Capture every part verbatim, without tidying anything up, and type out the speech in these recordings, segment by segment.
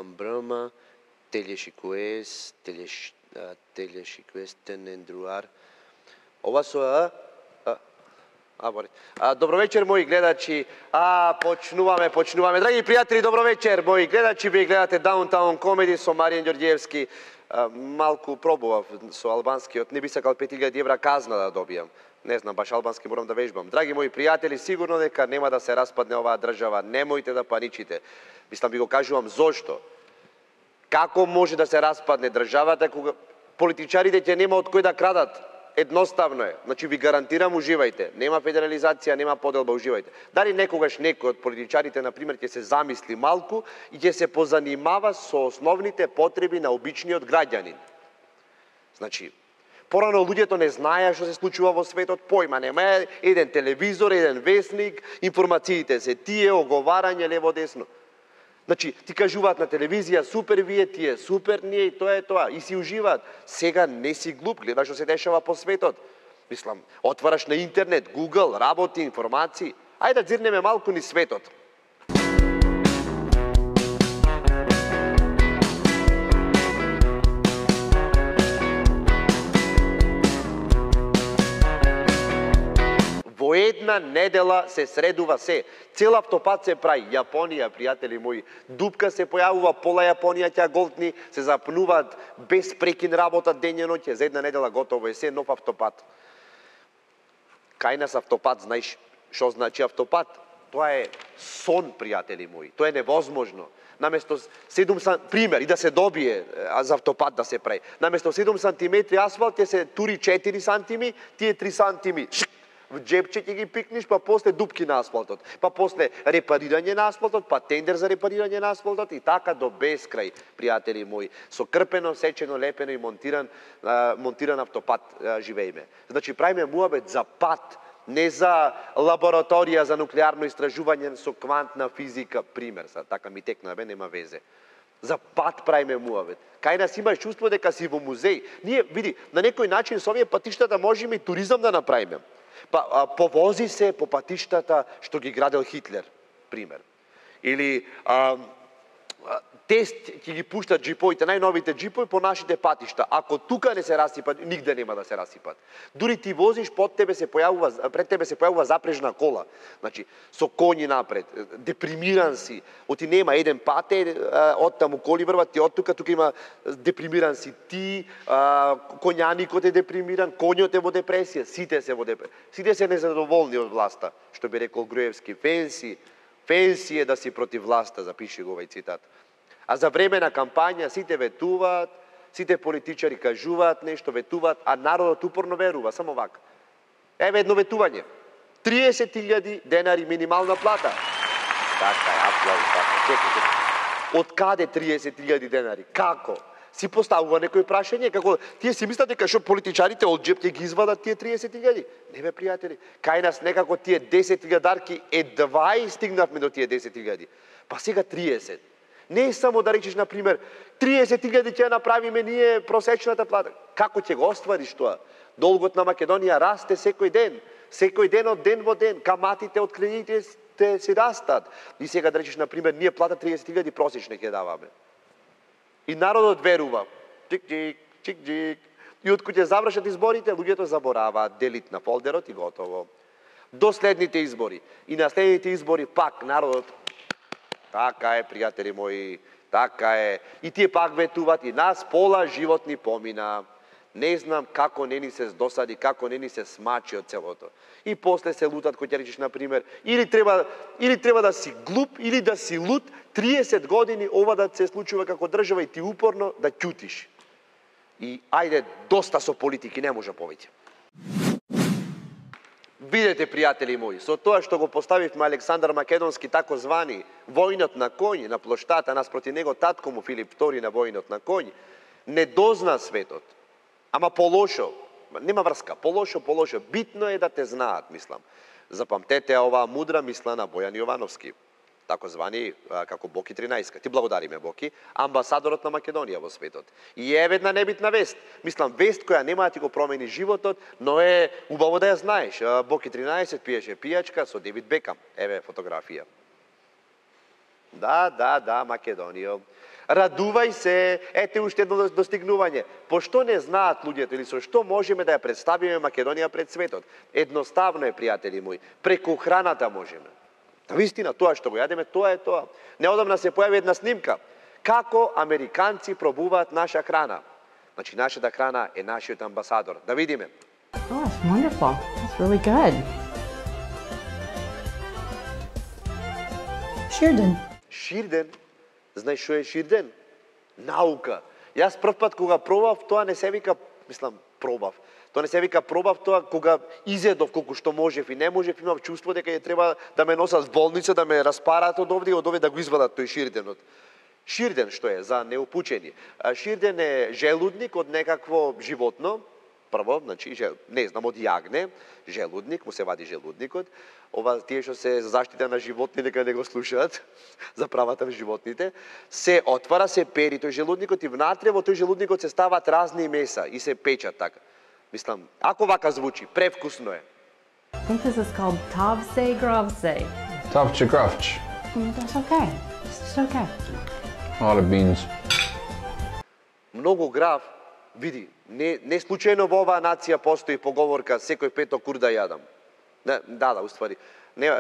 Мам Брама, Телешикуес, Телеш Телешикуестен Ендруар. Ова со а А, бори. А, добро вечер, мои гледачи. А, почнуваме, почнуваме. Драги пријатели, добро вечер, мои гледачи. Вие гледате Downtown Comedy со Маријан Ѓорѓиевски. А, малку пробував со албанскиот. Не би сакал пет илјади евра казна да добијам. Не знам, баш албански морам да вежбам. Драги мои пријатели, сигурно дека нема да се распадне оваа држава. Немојте да паничите. Мислам, ви го кажувам зошто. Како може да се распадне државата кога политичарите ќе нема од кој да крадат? Едноставно е. Значи ви гарантирам, уживајте. Нема федерализација, нема поделба, уживајте. Дали некогаш некој од политичарите, например, ќе се замисли малку и ќе се позанимава со основните потреби на обичниот граѓанин. Значи, порано луѓето не знаеа што се случува во светот, појма нема, еден телевизор, еден весник, информациите се тие, оговарање лево-десно. Значи, ти кажуваат на телевизија, супер вие, тие супер ние и тоа е тоа. И си уживаат. Сега не си глуп, гледаш што се дешава по светот. Мислам, отвараш на интернет, Google, работи, информации. Ајде да дзирнеме малку ни светот. Во една недела се средува се. Цел автопат се прави. Јапонија, пријатели мои, дупка се појавува, пола Јапонија ќе голтни, се запнуваат без прекин работа дење ноќе, за една недела готово е се, нов автопат. Кај нас автопат, знаеш што значи автопат? Тоа е сон, пријатели мои. Тоа е невозможно. Наместо седум сантиметри, пример, и да се добие за автопат да се прави. Наместо седум сантиметри асфалт ќе се тури четири сантиметри, тие три сантиметри в джепче ќе ги пикниш, па после дупки на асфалтот, па после репарирање на асфалтот, па тендер за репарирање на асфалтот и така до безкрај, пријатели мои. Со крпено, сечено, лепено и монтиран, а, монтиран автопат а, живееме. Значи правиме муабет за пат, не за лабораторија за нуклеарно истражување со квантна физика, пример, са, така ми текна, бе, нема везе. За пат правиме муабет. Кај нас имаш чувство дека си во музеј. Ние, види, на некој начин со овие патиштата можеме и туризам да направиме. Па, а, повози се по патиштата што ги градел Хитлер, пример. Или а, а, тест ќе ги пуштат джиповите, најновите джипови по нашите патишта. Ако тука не се расипат, нигде нема да се расипат. Дури ти возиш, под тебе се појавува, пред тебе се појавува запрежна кола. Значи, со коњи напред, депримиран си. Оти нема еден пат е, од таму коли врват, ти од тука, тука има депримиран си ти, а, коњаникот е депримиран, коњот е во депресија, сите се во депресија. Сите се незадоволни од власта, што би рекол Груевски. Фенси, фенси е да си против власта, запиши го овај цитат. А за време на кампања сите ветуваат, сите политичари кажуваат нешто, ветуваат, а народот упорно верува, само вака. Еве едно ветување. триесет илјади денари минимална плата. Така е, аплауз, така. Чекайте. Од каде триесет илјади денари? Како? Си поставува некој прашање, како тие си мислат дека што политичарите од джеп ќе ги извадат тие триесет илјади? Не бе, пријатели. Кај нас некако тие десет илјадарки едва и стигнавме до тие десет илјади. Па сега триесет. Не е само да речеш, например, триесет илјади ќе направиме ние просечната плата. Како ќе го оствариш тоа? Долгот на Македонија расте секој ден. Секој ден од ден во ден. Каматите од кредитите се растат. И сега да речеш, например, ние плата триесет илјади просечна ќе даваме. И народот верува. Чик-чик, чик-чик. И од кој ќе завршат изборите, луѓето забораваат, делит на фолдерот и готово. До следните избори. И на следните избори пак народот. Така е, пријатели мои, така е. И тие пак ветуваат, и нас пола живот ни помина. Не знам како не ни се здосади, како не ни се смачи од целото. И после се лутат, кој ќе речеш, например, или треба, или треба да си глуп, или да си лут, триесет години ова да се случува како држава и ти упорно да ќутиш. И ајде, доста со политики, не може повеќе. Видете, пријатели мои, со тоа што го поставивме Александар Македонски, тако звани војнот на коњ, на плоштата, наспроти него татко му Филип втори на војнот на коњ, не дозна светот. Ама полошо, нема врска, полошо, полошо. Битно е да те знаат, мислам. Запамтете оваа мудра мисла на Бојан Јовановски, тако звани како Боки тринаесет. Ти благодариме, Боки, амбасадорот на Македонија во светот. И е една небитна вест. Мислам, вест која нема да ти го промени животот, но е убаво да ја знаеш. Боки тринаесет пиеше пијачка со Девид Бекам. Еве фотографија. Да, да, да, Македонија. Радувај се, ете уште едно достигнување. По што не знаат луѓето или со што можеме да ја представиме Македонија пред светот? Едноставно е, пријатели мои, преку храната можеме. Вистина, тоа што го јадеме, тоа е тоа. Неодамна се појави една снимка. Како американци пробуваат наша храна. Значи, нашата храна е нашиот амбасадор. Да видиме. Oh, that's wonderful. That's really good. Ширден. Ширден? Знаеш што е ширден? Наука. Јас прв пат кога пробав, тоа не се вика, мислам, пробав. Тоа не се вика пробав, тоа кога изедов колку што можев и не можев, имав чувство дека ја треба да ме носат в болница, да ме распараат од овде и од овде да го извадат тој ширденот. Ширден што е за неупучени? Ширден е желудник од некакво животно. Прво, значи, не знам, од јагне, желудник, му се вади желудникот. Ова, тие што се за заштита на животни, нека не го слушаат, за правата на животните. Се отвара, се пери тој желудникот и внатре во тој желудникот се стават разни меса и се печат така. Мислам, ако вака звучи, превкусно е. I think this is called tavse gravse. Tavche gravch. Mm, that's okay. It's okay. A lot of beans. Многу грав, види, не, не случајно во оваа нација постои поговорка секој петок урда јадам. Не, да, да, уствари. Не,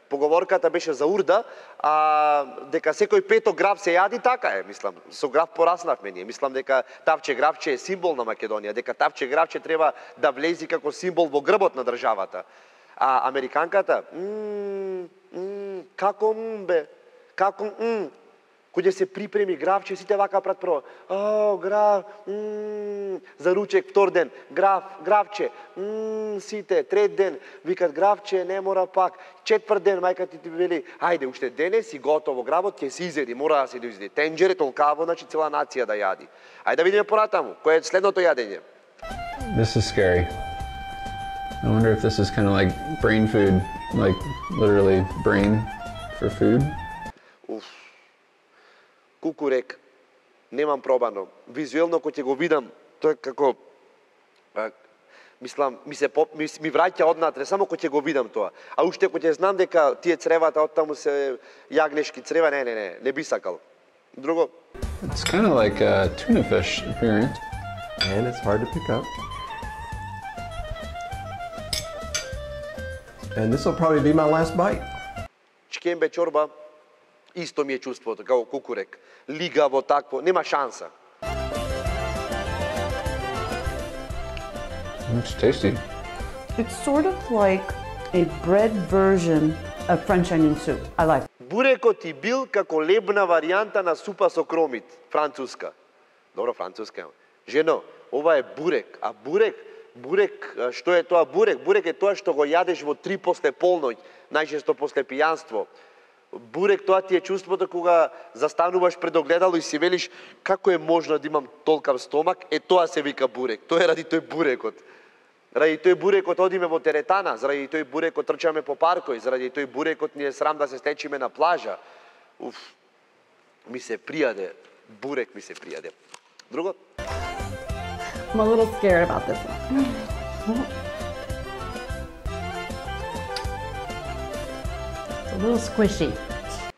поговорката беше за урда, а дека секој петок грав се јади, така е, мислам. Со грав пораснавме ние. Мислам дека тавче гравче е символ на Македонија, дека тавче гравче треба да влези како символ во грбот на државата. А американката, мм, мм, како мм бе, како мм. Кој се припреми гравче, сите вака прат прво. О, грав, мм, за ручек втор ден, грав, гравче, мм, сите, трет ден, викат гравче, не мора пак. Четврт ден, мајка ти ти вели, ајде, уште денес си готово гравот, ќе се изеди, мора да се доизеди. Тенџере толкаво, значи цела нација да јади. Ајде да видиме понатаму, кој е следното јадење. This is scary. I wonder if this is kind of like brain food, like literally brain for food. Уф. Кукурек, немам пробано. Визуелно кој ќе го видам, тоа е како а, мислам, ми се поп, ми, ми враќа однатре, само кој ќе го видам тоа. А уште кој ќе знам дека тие цревата од таму се јагнешки црева, не, не, не, не би сакал. Друго? It's kind of like a tuna fish appearance. And it's hard to pick up. And this will probably be my last bite. Чкембе чорба, исто ми е чувството, како кукурек. Лигаво, такво, нема шанса. It's tasty. It's sort of like a bread version of French onion soup. I like it. Бурекот и бил како лебна варијанта на супа со кромит, француска. Добро, француска. Жено, ова е бурек, а бурек, бурек, што е тоа бурек? Бурек е тоа што го јадеш во три после полноќ, најчесто после пијанство. Бурек, тоа ти е чувството кога застануваш пред огледало и си велиш како е можно да имам толкав стомак, е тоа се вика бурек. Тоа е ради тој бурекот. Ради тој бурекот одиме во теретана, заради тој бурекот трчаме по паркој, заради тој бурекот ни е срам да се стечиме на плажа. Уф, ми се пријаде, бурек ми се пријаде. Друго? I'm a little scared about this one. It's a little squishy.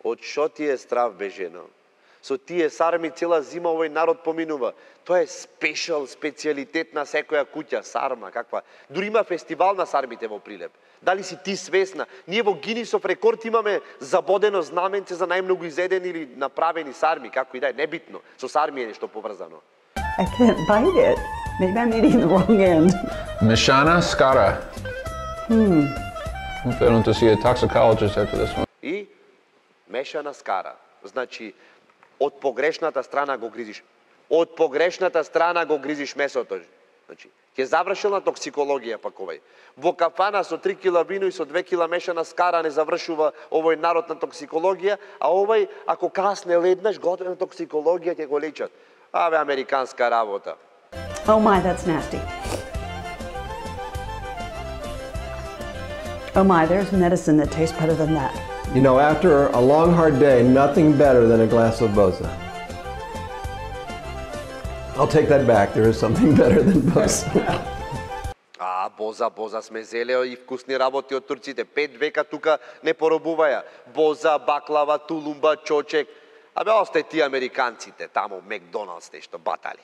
Од шо ти е страв, бе, жено? Со тие сарми цела зима овој народ поминува. Тоа е спешал, специјалитет на секоја куќа, сарма, каква. Дури има фестивал на сармите во Прилеп. Дали си ти свесна? Ние во Гинисов рекорд имаме забодено знаменце за најмногу изедени или направени сарми, како и да е, небитно. Со сарми е нешто поврзано. I can't bite it. Maybe I'm eating the wrong end. Mishana Skara. Hmm. Hope I don't have to see a toxicologist after this one. И мешана скара. Значи, од погрешната страна го гризиш. Од погрешната страна го гризиш месото. Значи, ќе завршил на токсикологија пак овој. Во кафана со три кила вино и со две кила мешана скара не завршува овој народ на токсикологија, а овој, ако касне леднаш, готова токсикологија ќе го лечат. Аве, американска работа. Oh my, that's nasty. Oh my, there's medicine that tastes better than that. You know, after a long, hard day, nothing better than a glass of Boza. I'll take that back. There is something better than Boza. А, Боза, Боза сме зеле и вкусни работи од турците. Пет века тука не поробуваја. Боза, баклава, тулумба, чочек. Абе, остај ти американците, таму Макдоналдс нешто батали.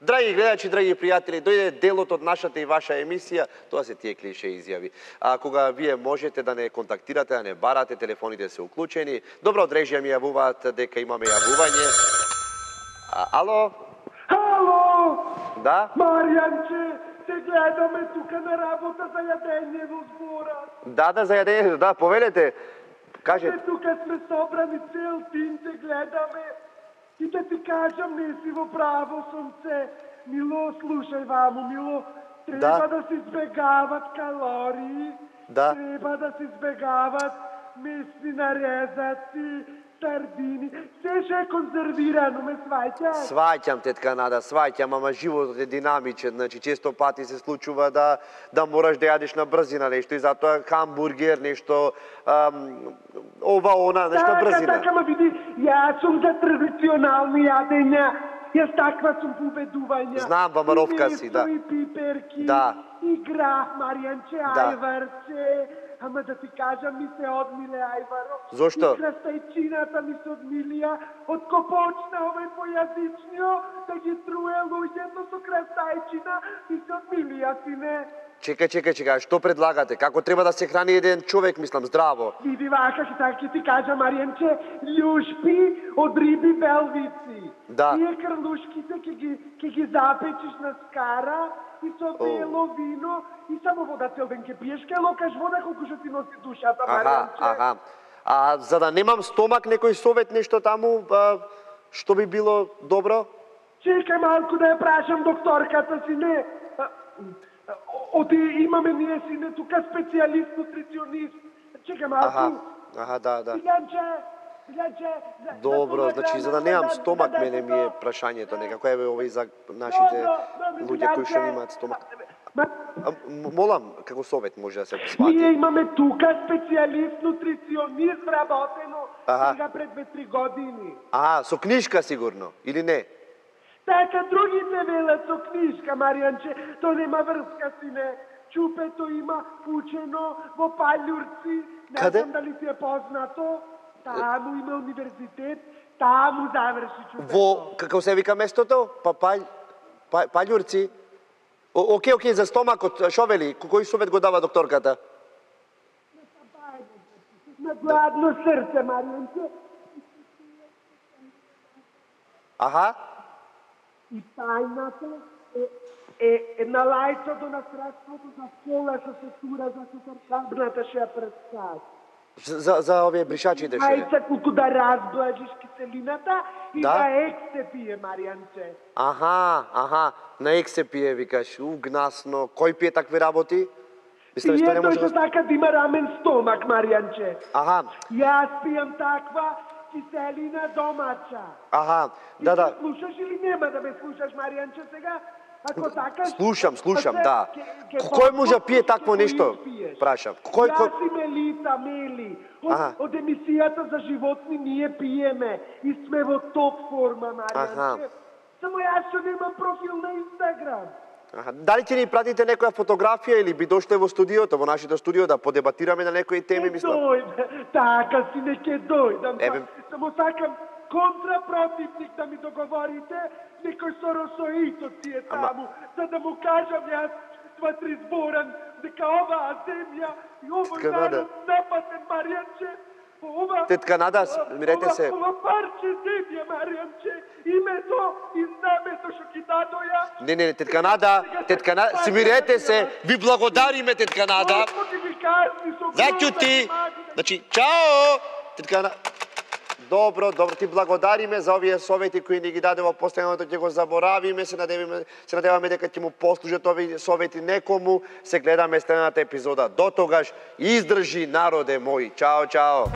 Драги гледачи, драги пријатели, дојде делот од нашата и ваша емисија, тоа се тие клише изјави. А кога вие можете да не контактирате, да не барате, телефоните се уклучени. Добро, од режија ми јавуваат дека имаме јавување. А, ало? Ало! Да? Маријанче, те гледаме тука на работа за јадење во збора. Да, да, за јадење, да, повелете. Кажете. Тука сме собрани цел тим, те гледаме. И да ти кажам, не си во право, сонце. Мило, слушај ваму, Мило, треба да, да се избегават калории, да. Треба да се избегават месни нарезаци, сардини, се ше е конзервирано, ме сваќаш? Сваќам, тетка Нада, сваќам, ама животот е динамичен, значи често пати се случува да да мораш да јадеш на брзина нешто и затоа хамбургер, нешто ам, ова она, нешто така, брзина. Така, ма види, јас сум за традиционални јадења, јас таква сум по убедување. Знам, бамаровка си, да. И пиперки, да. И грах, Маријанче, да. ајварче. Ама да ти кажам, ми се одмиле, ајваро. Зошто? И крастајчината ми се одмилија. Од ко почна овој појазичнио, да ги труе луѓето со крастајчина, ми се одмилија, сине. Чекај, чекај, чекај, што предлагате? Како треба да се храни еден човек, мислам, здраво? Види вака, така ќе ти кажам, Маријанче, љушпи од риби белвици. Да. Тие крлушките ќе ги, ќе ги запечиш на скара, и со бело вино, и само вода цел ден ќе пиеш, ке локаш вода колку што ти носи душата, Маријанче. Аха, аха. А за да немам стомак, некој совет нешто таму, а, што би било добро? Чекај малку да ја прашам докторката, сине. Оди имаме ние, сине, тука специјалист, нутриционист. Чекај малку. Аха, аха, да, да. Илјанче, Илјанче... Добро, значи за да немам стомак, мене ми е прашањето некако, еве овој за нашите луѓе кои што имаат стомак. А, молам, како совет може да се свати? Ние имаме тука специјалист, нутриционист, вработено сега пред две-три години. Аха, со книжка сигурно, или не? Така, другите велат со книжка, Маријанче, то нема врска, сине. Чупето има учено во Паљурци, не знам дали ти е познато. Таму има универзитет, таму заврши чупето. Во, како се вика местото? Па, па, па, Паљурци? Океј, океј, за стомакот, шо вели? Кој совет го дава докторката? На гладно срце, Маријанче. Аха. И тајната е, е, е на лајцото на средството за школа со сестура за сесаркабната ше представ. За, за овие бришачите ше? Ајца колку да разблажиш киселината и да, да ек се пие, Маријанче. Аха, аха, на ек се пие, викаш, угнасно. Кој пие такви работи? Пие тој што така да има рамен стомак, Маријанче. Аха. Јас пијам таква киселина домача. Аха, да, да. И слушаш или нема да ме слушаш, Маријанче, сега? Ако сакаш... Слушам, слушам, да. Кој може да пие такво нешто? Прашам. Кој, кој... Јас и Мелита, Мели. Од, од емисијата за животни ние пиеме. И сме во топ форма, Маријанче. Само јас што немам профил на Инстаграм. Аха. Дали ќе ни пратите некоја фотографија или би дошле во студиото, во нашето студио да подебатираме на некои теми, мислам? Дојде, така си не ќе дојдам. Еве... Само сакам контрапротивник да ми договорите, некој соросоитот си е таму, за да му кажам јас сватри зборан, дека оваа земја и овој народ нападен, Маријанче, ова... Тетка Нада, смирете се. Ова парче земја, Маријанче, името и знамето што ги дадоја... Не, не, тетка Нада, тетка Нада, смирете се, ви благодариме, тетка Нада. Заќути, значи, чао, тетка Нада. Добро, добро, ти благодариме за овие совети кои ни ги даде во постојаното, ќе го заборавиме, се надеваме, се надеваме дека ќе му послужат овие совети некому. Се гледаме следната епизода. До тогаш, издржи народе мој. Чао, чао.